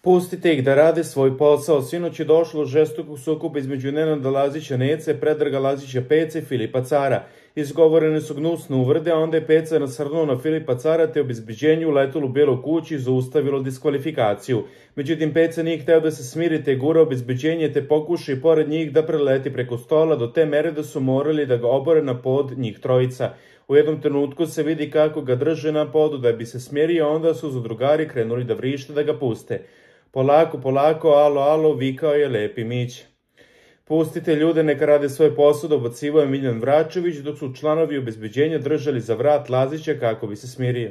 Pustite ih da rade svoj posao. Sinoć je došlo do žestokog sukoba između Nenada Lazića Nece, Predraga Lazića Pece i Filipa Cara. Izgovorene su gnusne uvrede, a onda je Peca nasrnuo na Filipa Cara te obezbeđenju uletelo u Belu kuću i zaustavilo diskvalifikaciju. Međutim, Peca nije hteo da se smiri te gura obezbeđenje te pokuša i pored njih da preleti preko stola do te mere da su morali da ga obore na pod njih trojica. U jednom trenutku se vidi kako ga drže na podu da bi se smirio, a onda su zadrugari krenuli da vrište da ga puste. Polako, polako, alo, alo, vikao je Lepi Mić. Pustite ljude, neka rade svoj posao, dobacivao je Miljan Vračević, dok su članovi obezbeđenja držali za vrat Lazića kako bi se smirio.